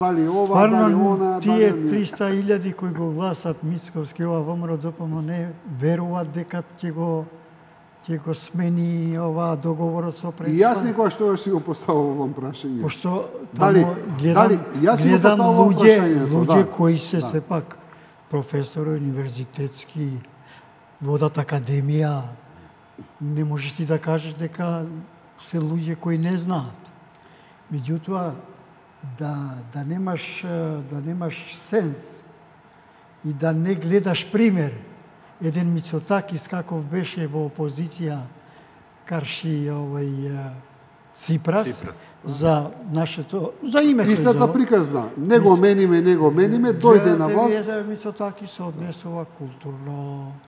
дали ова, дали она, тие дали 300.000 кои го гласат Мицковски ова ВМРО ДПМН не веруваат дека ќе го смени оваа договорот со И јас некоја што си го поставувам прашање. Пошто Дали јас си го поставувам прашањето, луѓе кои се сепак професори универзитетски, водат академија, не можеш ти да кажеш дека се луѓе кои не знаат. Меѓутоа, да немаш сенс и да не гледаш пример. Еден Мицотакис каков беше во опозиција карши Ципрас за нашето, за името. Истата приказна. Не го мениме, дојде на власт. Мицотакис се однесува културно.